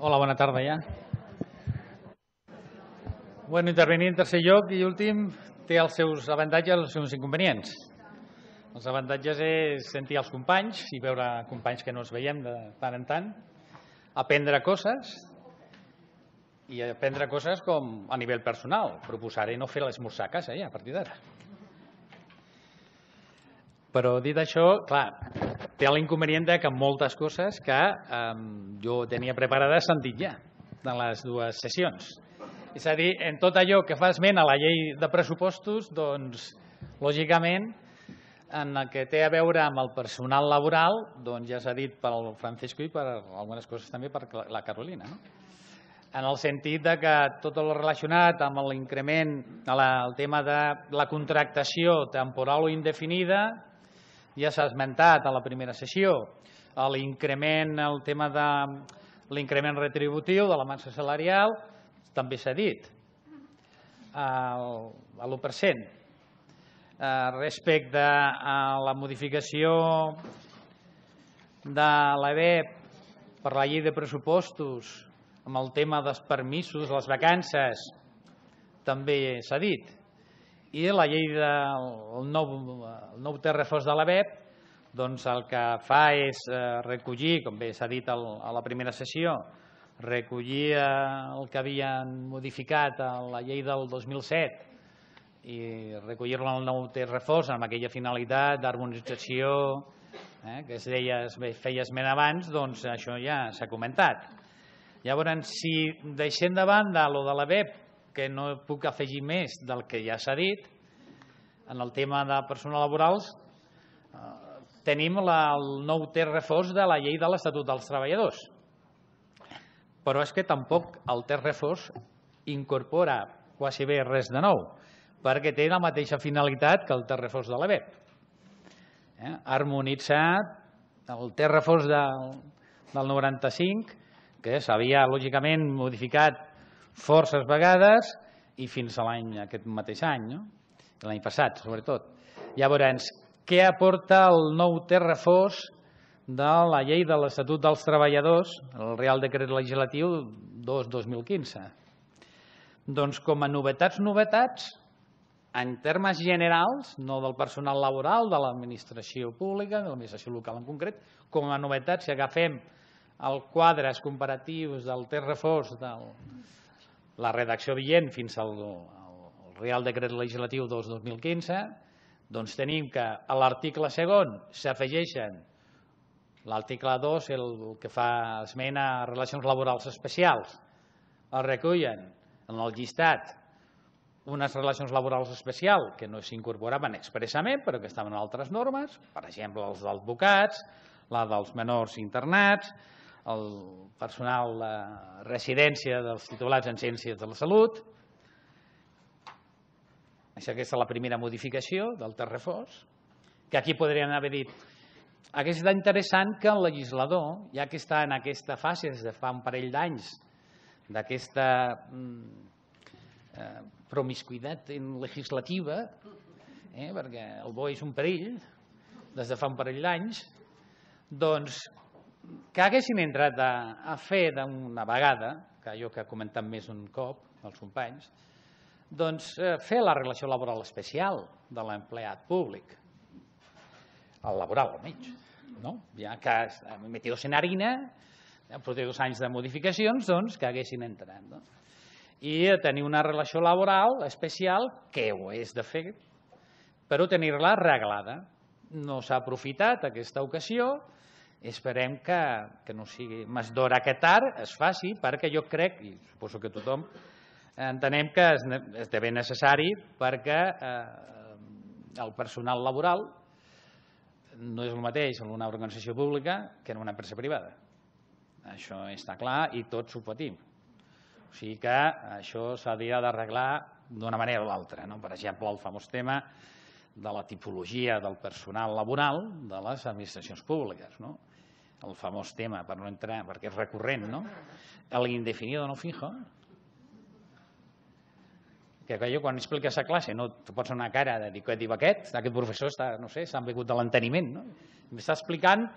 Hola, bona tarda ja. Bueno, intervenir en tercer lloc i últim té els seus avantatges i els seus inconvenients. Els avantatges és sentir els companys i veure companys que no ens veiem de tant en tant, aprendre coses i aprendre coses com a nivell personal. Proposaré no fer l'esmorzar a casa ja a partir d'ara. Però dit això, clar, té l'inconvenient que moltes coses que jo tenia preparades s'han dit ja de les dues sessions. És a dir, en tot allò que fa esment a la llei de pressupostos, doncs, lògicament, en el que té a veure amb el personal laboral, doncs ja s'ha dit pel Francisco i per algunes coses també per la Carolina, no? En el sentit que tot el relacionat amb l'increment, el tema de la contractació temporal o indefinida, ja s'ha esmentat a la primera sessió, l'increment, el tema de l'increment retributiu de la massa salarial, també s'ha dit, a l'1%. Respecte a la modificació de l'ABEP per la llei de pressupostos, amb el tema dels permisos, les vacances, també s'ha dit. I la llei del nou text refós de l'ABEP, doncs el que fa és recollir, com bé s'ha dit a la primera sessió, recollir el que havien modificat a la llei del 2007 i recollir-lo en el nou text refós amb aquella finalitat d'harmonització que es feia esment abans, doncs això ja s'ha comentat. Llavors, si deixem de banda el de l'ABEP, que no puc afegir més del que ja s'ha dit, en el tema de personal laborals tenim el nou text refós de la llei de l'Estatut dels Treballadors. Però és que tampoc el text refós incorpora quasi bé res de nou, perquè té la mateixa finalitat que el text refós de l'ABEP. Harmonitzar el text refós del 95, que s'havia lògicament modificat forces vegades i fins a aquest mateix any, l'any passat sobretot. Llavors, què aporta el nou text refós de la llei de l'Estatut dels Treballadors, el Reial Decret Legislatiu 2/2015? Doncs com a novetats, en termes generals, no del personal laboral, de l'administració pública, de l'administració local en concret, com a novetats, si agafem els quadres comparatius del text refós de la redacció vigent fins al Reial Decret Legislatiu 2/2015, doncs tenim que a l'article segon s'afegeixen l'article 2, el que fa esment a relacions laborals especials. Es recullen en el llistat unes relacions laborals especials que no s'incorporaven expressament, però que estaven en altres normes, per exemple, els dels advocats, la dels menors internats, el personal de residència dels titulats en ciències de la salut. Aquesta és la primera modificació del text refós, que aquí podrien haver dit hauria estat interessant que el legislador, ja que està en aquesta fase des de fa un parell d'anys, d'aquesta promiscuïtat legislativa, perquè el bo és un perill, des de fa un parell d'anys, doncs que haguessin entrat a fer d'una vegada, que allò que ha comentat més un cop els companys, doncs fer la relació laboral especial de l'empleat públic, el laboral almenys, ja que metidos en harina, després de 2 anys de modificacions, doncs que haguessin entrat. I tenir una relació laboral especial, que ho és de fer, però tenir-la reglada. No s'ha aprofitat aquesta ocasió, esperem que no sigui més d'hora que tard, es faci, perquè jo crec, i suposo que tothom, entenem que esdevé necessari perquè el personal laboral no és el mateix en una organització pública que en una empresa privada. Això està clar i tots ho patim. O sigui que això s'hauria d'arreglar d'una manera o l'altra. Per exemple, el famós tema de la tipologia del personal laboral de les administracions públiques. El famós tema, per no entrar, perquè és recurrent, l'indefinido no fijo, que jo quan expliques a classe no te pots una cara de dir, què diu aquest professor, no sé, s'ha begut de l'enteniment. M'està explicant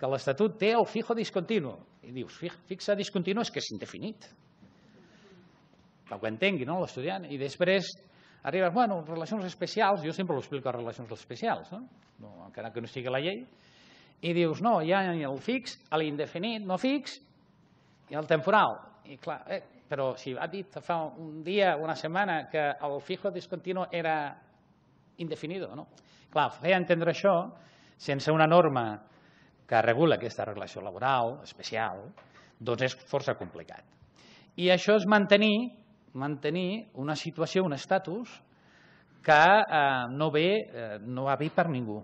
que l'Estatut té el fijo discontinu. I dius, fixa discontinu és que és indefinit. Que ho entengui l'estudiant. I després arribes, bueno, relacions especials, jo sempre ho explico a relacions especials, encara que no estigui a la llei, i dius, no, hi ha el fix, l'indefinit no fix i el temporal. I clar, però si ha dit fa un dia, una setmana, que el fijo discontinu era indefinido, no? Clar, fer entendre això sense una norma que regula aquesta relació laboral especial, doncs és força complicat. I això és mantenir una situació, un estatus que no va bé per ningú,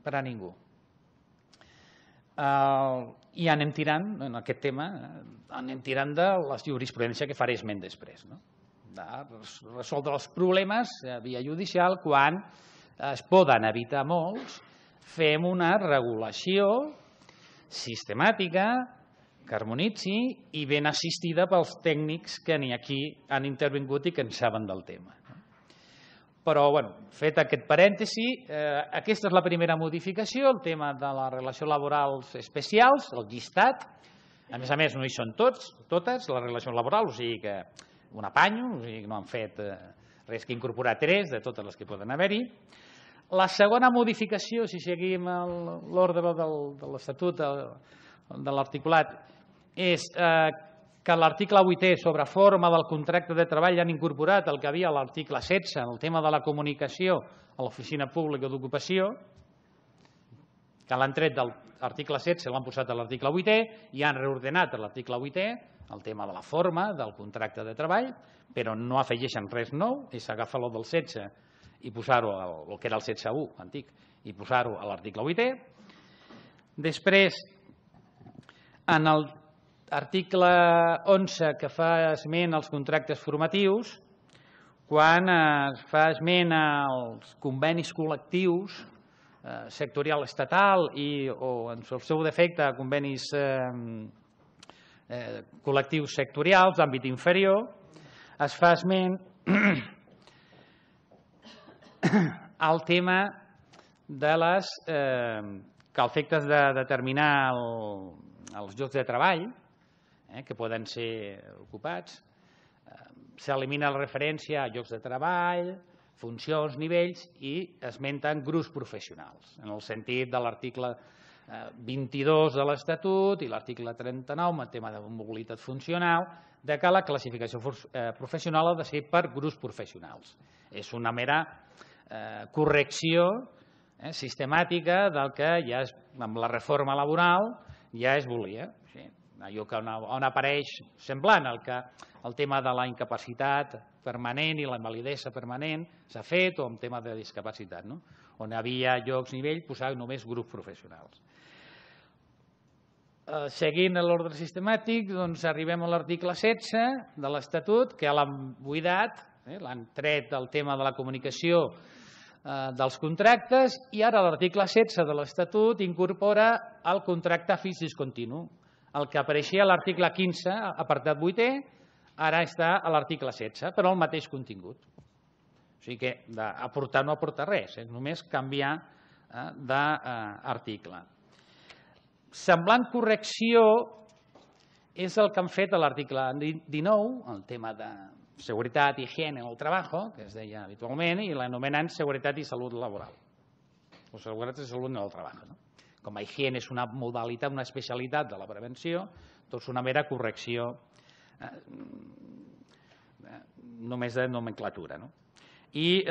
per a ningú. I anem tirant, en aquest tema, anem tirant de la jurisprudència que faré esment després. De resoldre els problemes via judicial quan es poden evitar molts, fem una regulació sistemàtica que harmonitzi i ben assistida pels tècnics que aquí han intervingut i que en saben del tema. Però, fet aquest parèntesi, aquesta és la primera modificació, el tema de les relacions laborals especials, el llistat. A més, no hi són totes les relacions laborals, o sigui que un apanyo, o sigui que no han fet res que incorporar 3 de totes les que poden haver-hi. La segona modificació, si seguim l'ordre de l'Estatut, de l'articulat, és que l'article 8è sobre forma del contracte de treball han incorporat el que havia a l'article 16, el tema de la comunicació a l'oficina pública d'ocupació, que l'han tret de l'article 16, l'han posat a l'article 8è i han reordenat a l'article 8è el tema de la forma del contracte de treball, però no afegeixen res nou, és agafar el del 16 i posar-ho, el que era el 16.1 antic, i posar-ho a l'article 8è. Després, en l'article 11 que fa esment als contractes formatius, quan es fa esment als convenis col·lectius sectorial estatal o en el seu defecte convenis col·lectius sectorials d'àmbit inferior, es fa esment al tema de les que a efectes de determinar els llocs de treball que poden ser ocupats, s'elimina la referència a llocs de treball, funcions, nivells i esmenten grups professionals, en el sentit de l'article 22 de l'Estatut i l'article 39, el tema de mobilitat funcional, que la classificació professional ha de ser per grups professionals. És una mera correcció sistemàtica del que ja amb la reforma laboral ja es volia. Allò on apareix semblant el tema de la incapacitat permanent i la invalidesa permanent s'ha fet, o en tema de discapacitat, on hi havia llocs, nivell, posar només grups professionals. Seguint l'ordre sistemàtic, arribem a l'article 16 de l'Estatut, que l'han buidat, l'han tret del tema de la comunicació dels contractes, i ara l'article 16 de l'Estatut incorpora el contracte fix discontinu. El que apareixia a l'article 15, apartat 8è, ara està a l'article 16, però el mateix contingut. O sigui que aportar no aporta res, només canviar d'article. Semblant correcció és el que han fet a l'article 19, el tema de seguretat i higiene en el treball, que es deia habitualment, i l'anomenen seguretat i salut laboral, o seguretat i salut en el treball. Com a higiene és una modalitat, una especialitat de la prevenció, doncs una mera correcció només de nomenclatura. I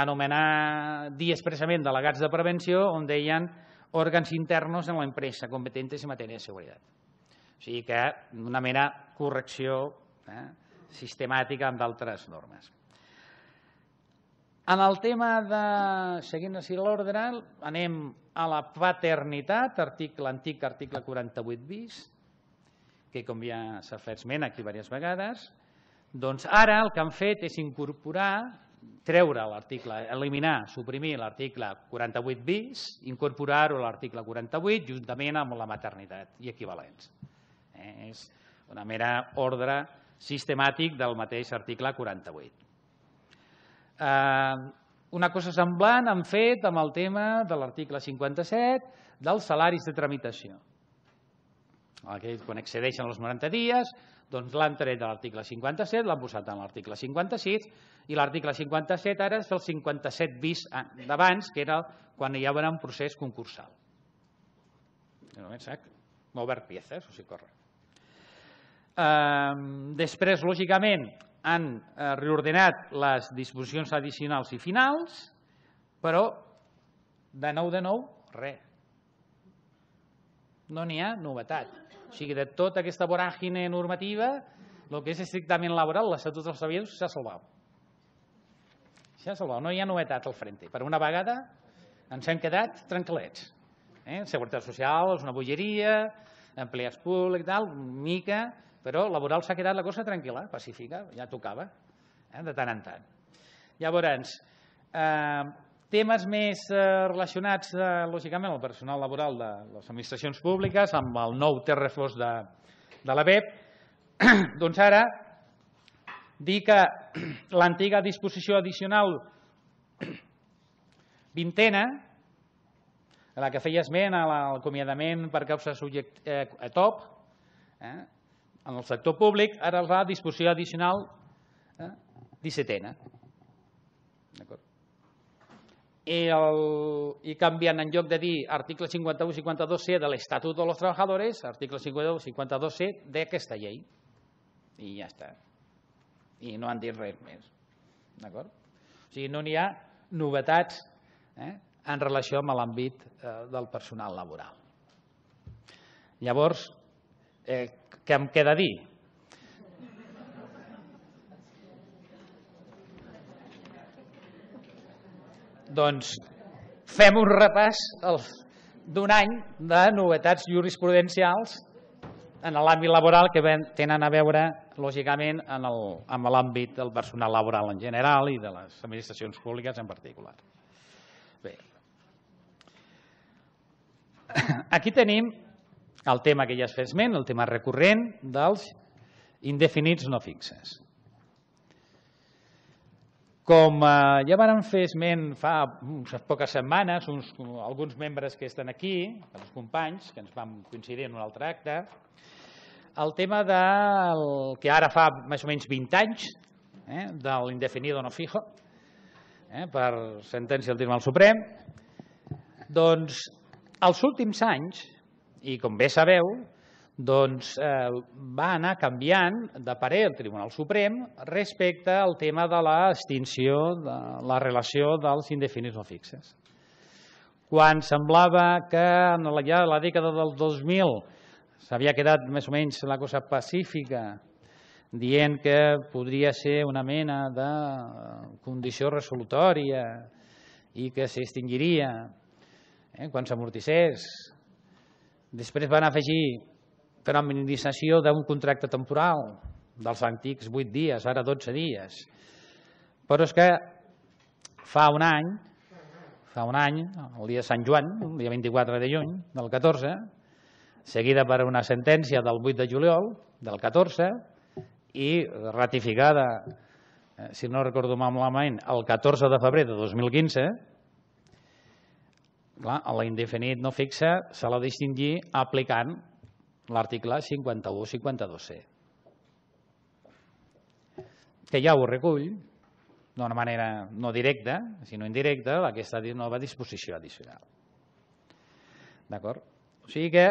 anomenar, dir expressament delegats de prevenció on deien òrgans internos en la empresa competentes en matèria de seguretat. O sigui que una mera correcció sistemàtica amb d'altres normes. En el tema de, seguint així l'ordre, anem a la paternitat, antic article 48 bis, que com ja s'ha fet esment aquí diverses vegades, doncs ara el que han fet és incorporar, treure l'article, eliminar, suprimir l'article 48 bis, incorporar-ho a l'article 48 juntament amb la maternitat i equivalents. És una mera ordre sistemàtic del mateix article 48. una cosa semblant han fet amb el tema de l'article 57 dels salaris de tramitació. Quan excedeixen els 90 dies, doncs l'han tret de l'article 57, l'han posat en l'article 56, i l'article 57 ara és el 57 bis d'abans, que era quan hi havia un procés concursal. Mover piezas, o sigui, correcte. Després, lògicament, han reordenat les disposicions addicionals i finals, però de nou, res. No n'hi ha novetat. O sigui, de tota aquesta voràgine normativa, el que és estrictament laboral, l'Estatut dels Treballadors s'ha salvat. S'ha salvat, no hi ha novetat al frente. Per una vegada ens hem quedat tranquil·lets. Seguretat social és una bogeria, empleats públics i tal, mica, però laboral s'ha quedat la cosa tranquil·la, pacífica, ja tocava, de tant en tant. Llavors, temes més relacionats, lògicament, amb el personal laboral de les administracions públiques, amb el nou terrefós de la BEP, doncs ara dir que l'antiga disposició addicional 20ena, la que feia esment a l'acomiadament per causa a top, en el sector públic, ara la disposició addicional 17ena. I canviant, en lloc de dir article 51 i 52C de l'Estatut dels Treballadors, article 51 i 52C d'aquesta llei. I ja està. I no han dit res més. D'acord? O sigui, no n'hi ha novetats en relació amb l'àmbit del personal laboral. Llavors, què em queda dir? Doncs fem un repàs d'un any de novetats jurisprudencials en l'àmbit laboral que tenen a veure, lògicament, amb l'àmbit del personal laboral en general i de les administracions públiques en particular. Bé, aquí tenim el tema que ja es fa esment, el tema recurrent dels indefinits no fixes. Com ja vam fer esment fa unes poques setmanes, alguns membres que estan aquí, els companys, que ens vam coincidir en un altre acte, el tema del que ara fa més o menys 20 anys, de l'indefinido no fijo, per sentència del Tribunal Suprem, doncs els últims anys, i com bé sabeu, doncs va anar canviant de parer el Tribunal Suprem respecte al tema de l'extinció de la relació dels indefinits no fixes. Quan semblava que en la dècada del 2000 s'havia quedat més o menys la cosa pacífica, dient que podria ser una mena de condició resolutòria i que s'extingiria quan s'amortissés. Després van afegir fenomenització d'un contracte temporal dels antics 8 dies, ara 12 dies. Però és que fa un any, el dia de Sant Joan, el dia 24 de juny del 14, seguida per una sentència del 8 de juliol del 14 i ratificada, si no recordo malament, el 14 de febrer de 2015, l'indefinit no fixe se l'ha de distingir aplicant l'article 51-52C, que ja ho recull d'una manera no directa, sinó indirecta, aquesta nova disposició addicional. D'acord? O sigui que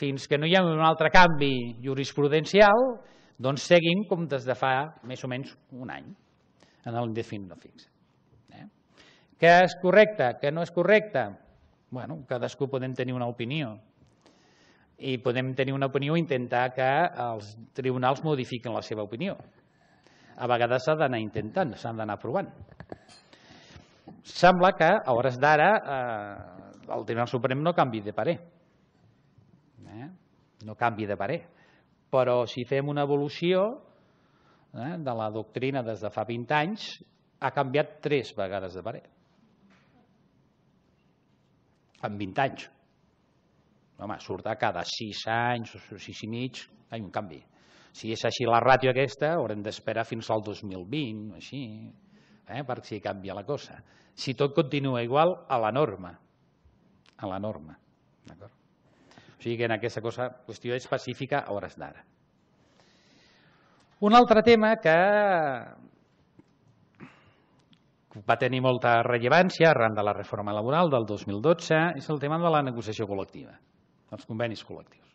fins que no hi ha un altre canvi jurisprudencial, doncs seguim com des de fa més o menys un any en l'indefinit no fixe. Que és correcte, que no és correcte? Bueno, cadascú podem tenir una opinió i podem tenir una opinió i intentar que els tribunals modifiquin la seva opinió. A vegades s'ha d'anar intentant, s'han d'anar provant. Sembla que a hores d'ara el Tribunal Suprem no canvi de parer. No canvi de parer. Però si fem una evolució de la doctrina des de fa 20 anys, ha canviat 3 vegades de parer. En 20 anys. Home, surt a cada 6 anys o 6 i mig, hi ha un canvi. Si és així la ràtio aquesta, haurem d'esperar fins al 2020, així, per si canvia la cosa. Si tot continua igual, a la norma. A la norma. D'acord? O sigui que en aquesta qüestió específica a hores d'ara. Un altre tema que va tenir molta rellevància arran de la reforma laboral del 2012 és el tema de la negociació col·lectiva, els convenis col·lectius.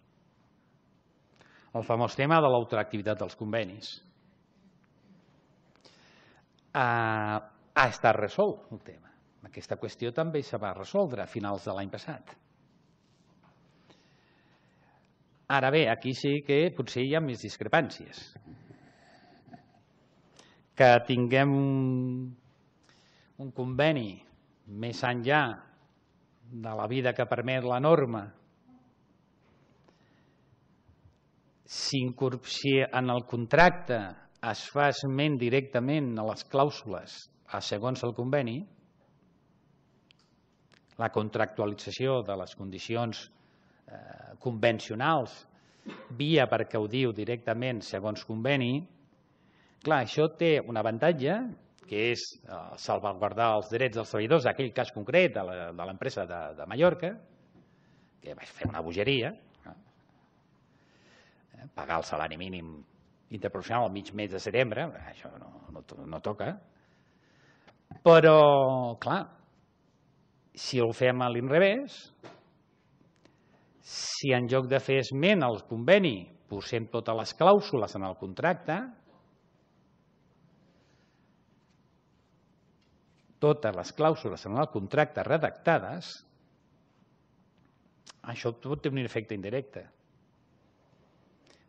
El famós tema de l'ultraactivitat dels convenis. Ha estat resolt el tema. Aquesta qüestió també se va resoldre a finals de l'any passat. Ara bé, aquí sí que potser hi ha més discrepàncies. Que tinguem un conveni més enllà de la vida que permet la norma, si en el contracte es fa esment directament a les clàusules segons el conveni, la contractualització de les condicions convencionals via perquè ho diu directament segons conveni, clar, això té un avantatge que és salvaguardar els drets dels treballadors d'aquell cas concret de l'empresa de Mallorca, que va fer una bogeria, pagar el salari mínim interprofessional al mig mes de setembre, això no toca. Però, clar, si ho fem a l'inrevés, si en lloc de fer esment al conveni posem totes les clàusules en el contracte, totes les clàusules en el contracte redactades, això pot tenir un efecte indirecte.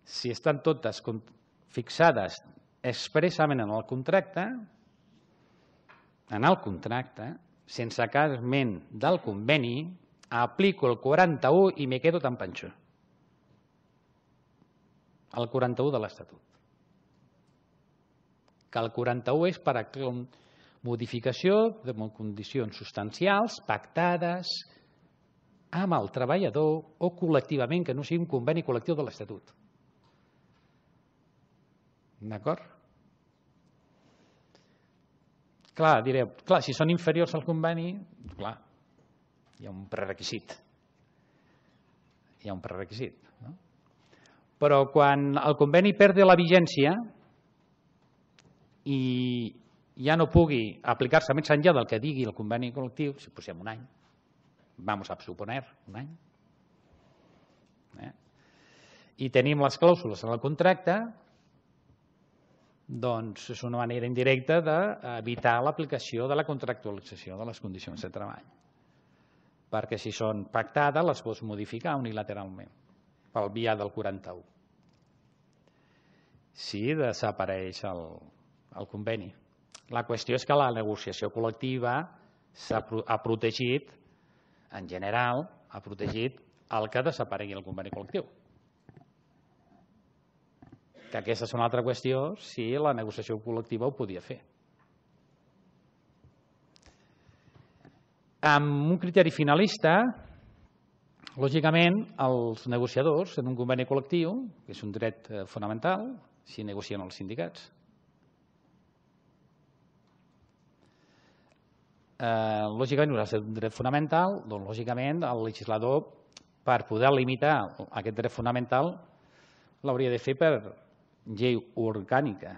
Si estan totes fixades expressament en el contracte, sense cap esment del conveni, aplico el 41 i me quedo tan panxo. El 41 de l'Estatut. Que el 41 és per a modificació de condicions substancials pactades amb el treballador o col·lectivament, que no sigui un conveni col·lectiu de l'Estatut. D'acord? Clar, direu, si són inferiors al conveni, clar, hi ha un prerequisit. Hi ha un prerequisit. Però quan el conveni perde la vigència i ja no pugui aplicar-se més enllà del que digui el conveni col·lectiu, si posem un any, vamos a suponer un any, i tenim les clàusules en el contracte, doncs és una manera indirecta d'evitar l'aplicació de la contractualització de les condicions de treball. Perquè si són pactades les pots modificar unilateralment pel via del 41. Si desapareix el conveni. La qüestió és que la negociació col·lectiva ha protegit, en general, ha protegit el que desaparegui el conveni col·lectiu. Que aquesta és una altra qüestió si la negociació col·lectiva ho podia fer. Amb un criteri finalista, lògicament, els negociadors en un conveni col·lectiu, que és un dret fonamental, si negocien els sindicats. Lògicament, és un dret fonamental, doncs lògicament el legislador, per poder limitar aquest dret fonamental, l'hauria de fer per llei orgànica,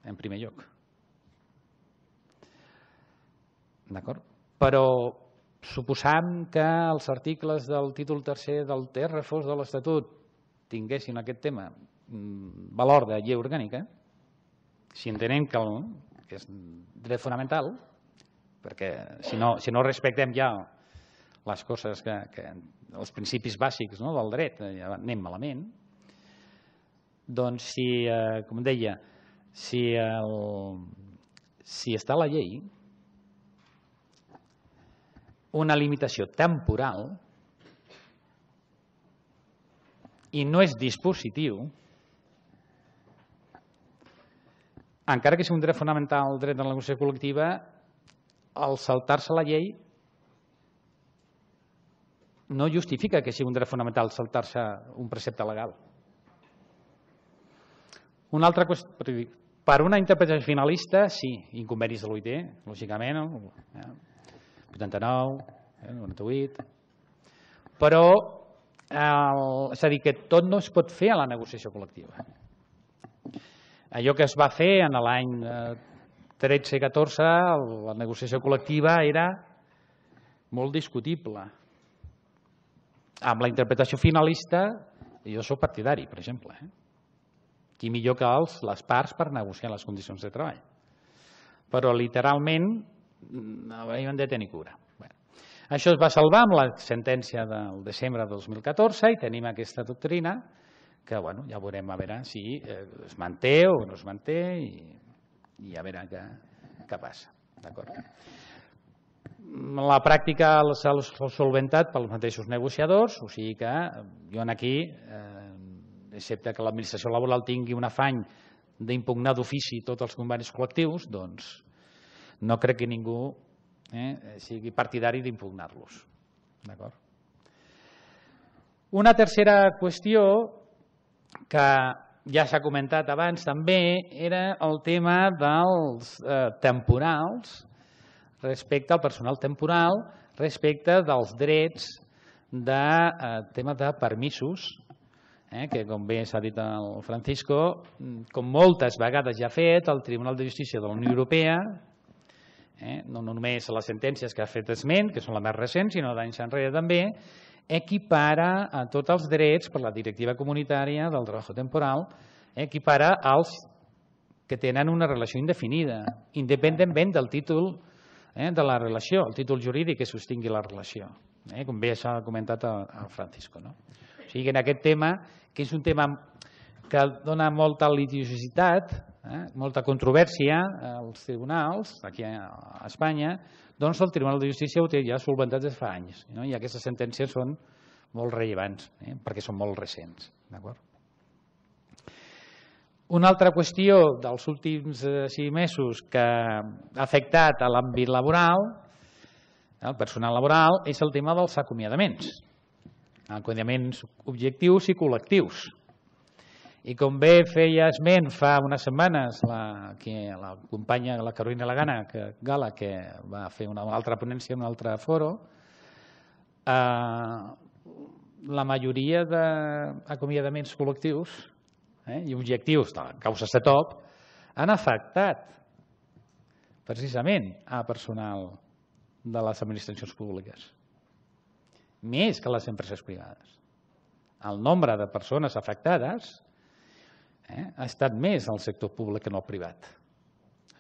en primer lloc. D'acord? Però suposant que els articles del títol tercer del text refós de l'Estatut tinguessin aquest tema valor de llei orgànica, si entenem que és dret fonamental, perquè si no respectem ja les coses, els principis bàsics del dret, ja anem malament, doncs, com deia, si està a la llei una limitació temporal i no és dispositiu, encara que sigui un dret fonamental, el dret de la negociació col·lectiva, al saltar-se la llei no justifica que sigui un dret fonamental saltar-se un precepte legal. Una altra qüestió, Per una interpretació finalista, sí, inconvenis de l'OIT, lògicament, 89, 98, però és a dir, que tot no es pot fer a la negociació col·lectiva. Allò que es va fer en l'any 13-14, la negociació col·lectiva era molt discutible. Amb la interpretació finalista, jo soc partidari, per exemple. Qui millor que les parts per negociar les condicions de treball. Però literalment havíem de tenir cura. Això es va salvar amb la sentència del desembre de 2014 i tenim aquesta doctrina que ja veurem a veure si es manté o no es manté i a veure què passa. La pràctica s'ha solventat pels mateixos negociadors, o sigui que jo aquí, excepte que l'administració laboral tingui un afany d'impugnar d'ofici tots els convenis col·lectius, doncs no crec que ningú sigui partidari d'impugnar-los. Una tercera qüestió que ja s'ha comentat abans també era el tema dels temporals respecte al personal temporal, respecte dels drets de tema de permisos, que com bé s'ha dit el Francisco, com moltes vegades ja ha fet el Tribunal de Justícia de la Unió Europea, no només les sentències que ha fet esment, que són les més recents, sinó d'anys enrere també, equipara a tots els drets per la directiva comunitària del treball temporal, equipara als que tenen una relació indefinida, independentment del títol de la relació, el títol jurídic que sostingui la relació, com bé s'ha comentat el Francisco. O sigui que en aquest tema, que és un tema que dona molta litigiositat, molta controvèrsia als tribunals, aquí a Espanya, doncs el Tribunal de Justícia ho té ja solventat des de fa anys, i aquestes sentències són molt rellevants, perquè són molt recents. Una altra qüestió dels últims 6 mesos que ha afectat a l'àmbit laboral, el personal laboral, és el tema dels acomiadaments. Acomiadaments objectius i col·lectius. I com bé feia esment fa unes setmanes la companya, la Carolina Gala, que va fer una altra ponència en un altre foro, la majoria d'acomiadaments col·lectius i objectius de causa CETOP han afectat precisament a personal de les administracions públiques, més que les empreses privades. El nombre de persones afectades ha estat més al sector públic que en el privat,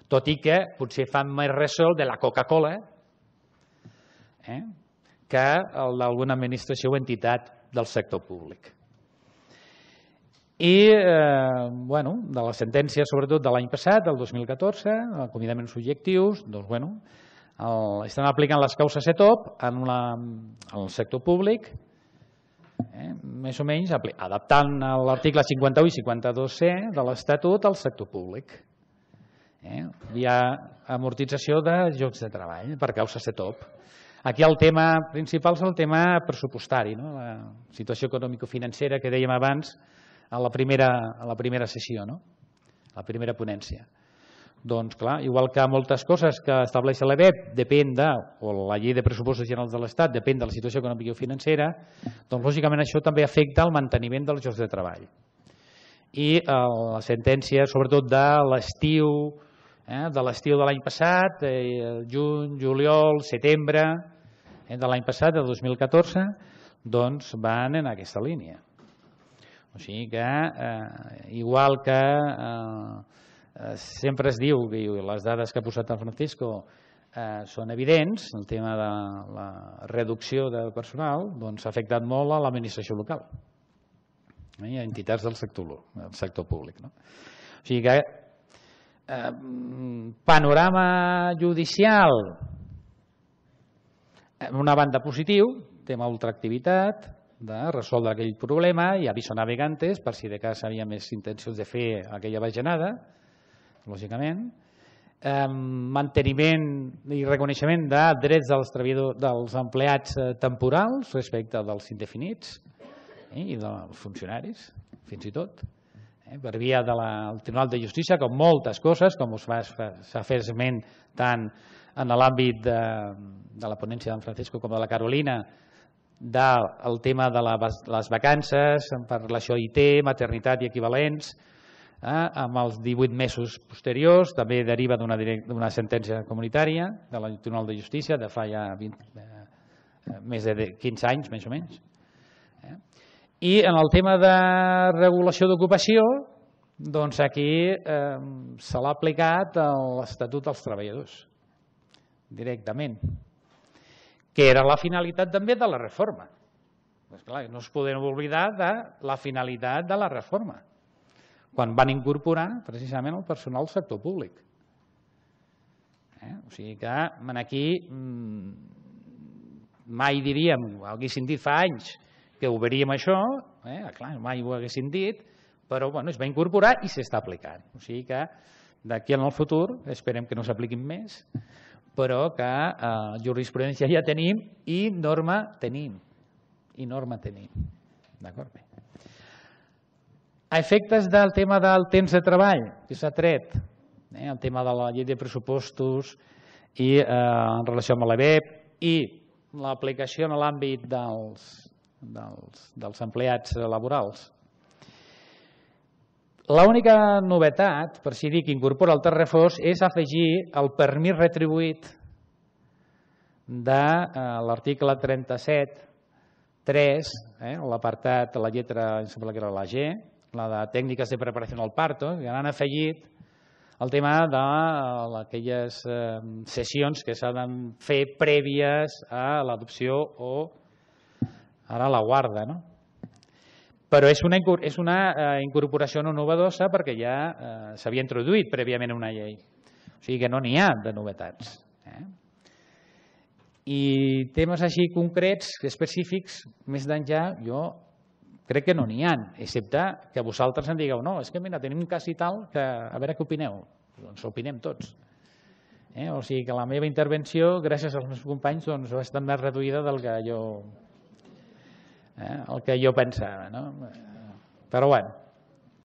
tot i que potser fan més ressò de la Coca-Cola que d'alguna administració o entitat del sector públic. I de les sentències, sobretot de l'any passat, del 2014, acomiadaments subjectius, estan aplicant les causes CETOP al sector públic, més o menys adaptant l'article 51 i 52C de l'Estatut al sector públic. Hi ha amortització de llocs de treball per causa CETOP. Aquí el tema principal és el tema pressupostari, la situació econòmico-financera que dèiem abans a la primera sessió, la primera ponència. Doncs clar, igual que moltes coses que estableix l'EBEP depèn o la llei de pressupostos generals de l'Estat depèn de la situació econòmica i financera, doncs lògicament això també afecta el manteniment dels llocs de treball. I la sentència, sobretot de l'estiu de l'any passat, juny, juliol, setembre de l'any passat, del 2014, doncs van en aquesta línia. O sigui que, igual que sempre es diu, que les dades que ha posat el Francisco són evidents, el tema de la reducció del personal ha afectat molt a l'administració local i a entitats del sector públic. O sigui que, panorama judicial, una banda positiu, tema ultraactivitat, de resoldre aquell problema i aviso navegantes per si de cas havia més intencions de fer aquella bajanada, lògicament, manteniment i reconeixement de drets dels empleats temporals respecte dels indefinits i dels funcionaris, fins i tot, per via del Tribunal de Justícia, com moltes coses, com s'ha fet esment tant en l'àmbit de la ponència d'en Francisco com de la Carolina, del tema de les vacances, per relació a IT, maternitat i equivalents, amb els 18 mesos posteriors, també deriva d'una sentència comunitària del Tribunal de Justícia de fa ja més de 15 anys, més o menys. I en el tema de regulació d'ocupació, doncs aquí se l'ha aplicat l'Estatut dels Treballadors, directament, que era la finalitat també de la reforma. No es podem oblidar de la finalitat de la reforma, quan van incorporar precisament el personal del sector públic. O sigui que aquí mai diríem, ho haguéssim dit fa anys, que ho veuríem això, clar, mai ho haguéssim dit, però es va incorporar i s'està aplicant. O sigui que d'aquí en el futur esperem que no s'apliquin més, però que jurisprudència ja tenim i norma tenim. D'acord? A efectes del tema del temps de treball, que s'ha tret, el tema de la llei de pressupostos i en relació amb l'EBEP i l'aplicació en l'àmbit dels empleats laborals. L'única novetat, per si dir, que incorpora el text refós és afegir el permís retribuït de l'article 37.3, l'apartat, la lletra, em sembla que era la G, la de tècniques de preparació al parto, que han afegit el tema d'aquelles sessions que s'han de fer prèvies a l'adopció o ara la guarda. Però és una incorporació no novedosa perquè ja s'havia introduït prèviament una llei. O sigui que no n'hi ha de novetats. I temes així concrets, específics, més d'enllà, jo crec que no n'hi ha, excepte que vosaltres em digueu, no, és que mira, tenim un cas i tal, que a veure què opineu. Doncs opinem tots. O sigui que la meva intervenció, gràcies als meus companys, doncs ha estat més reduïda del que jo pensava. Però bueno,